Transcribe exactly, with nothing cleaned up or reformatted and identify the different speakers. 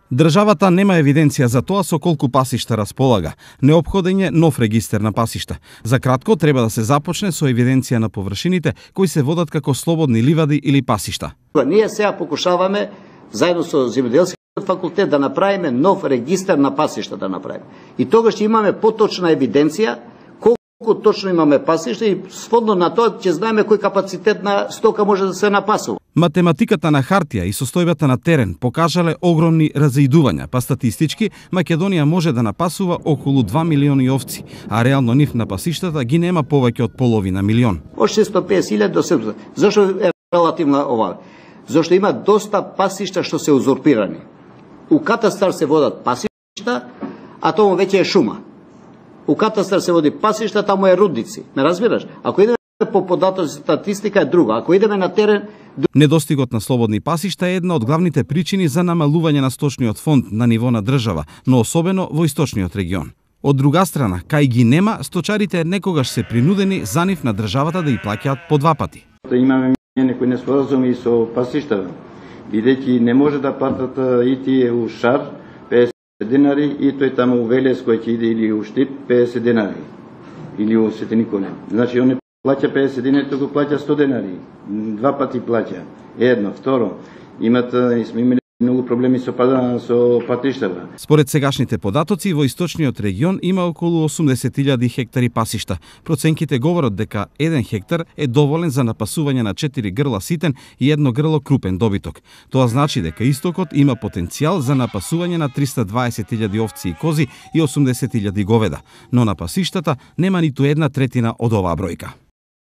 Speaker 1: Државата нема евиденција за тоа со колку пасишта располага. Неопходен е нов регистер на пасишта. За кратко треба да се започне со евиденција на површините кои се водат како слободни ливади или пасишта.
Speaker 2: Ние сега покушаваме заедно со земјоделскиот факултет да направиме нов регистер на пасишта да направиме. И тогаш ќе имаме поточна евиденција колку точно имаме пасишта и сходно на тоа ќе знаеме кој капацитет на стока може да се напасува.
Speaker 1: Математиката на хартија и состојбата на терен покажале огромни разидувања, па статистички Македонија може да напасува околу два милиони овци, а реално нив на пасиштата ги нема повеќе од половина милион.
Speaker 2: Од шестстотини и песет илјади до седумстотини. Зошто е релативно ова? Зошто има доста пасишта што се узурпирани. У катастар се водат пасишта, а тоа веќе е шума. У катастар се води пасишта, таму е рудници. Ме разбираш? Ако идеме по податоци статистика е друга. Ако идеме на терен...
Speaker 1: Недостигот на слободни пасишта е една од главните причини за намалување на сточниот фонд на ниво на држава, но особено во источниот регион. Од друга страна, кај ги нема, сточарите некогаш се принудени за нив на државата да ја плаќаат по два пати.
Speaker 3: Имаме некои неспоразуми со пасишта, бидејќи не може да платат и тие у Шар песет денари и тој таму у Велес кој ќе иде или у Штип песет денари или у Свети Николе. Значи он не плаќа песет денари, туку плаќа сто денари. Два пати плаќа. Едно, второ, имат сме имали многу проблеми со пада со патиштата.
Speaker 1: Според сегашните податоци во источниот регион има околу осумдесет илјади хектари пасишта. Проценките говорат дека еден хектар е доволен за напасување на четири грла ситен и едно грло крупен добиток. Тоа значи дека истокот има потенцијал за напасување на триста дваесет илјади овци и кози и осумдесет илјади говеда, но на пасиштата нема ниту една третина од оваа бројка.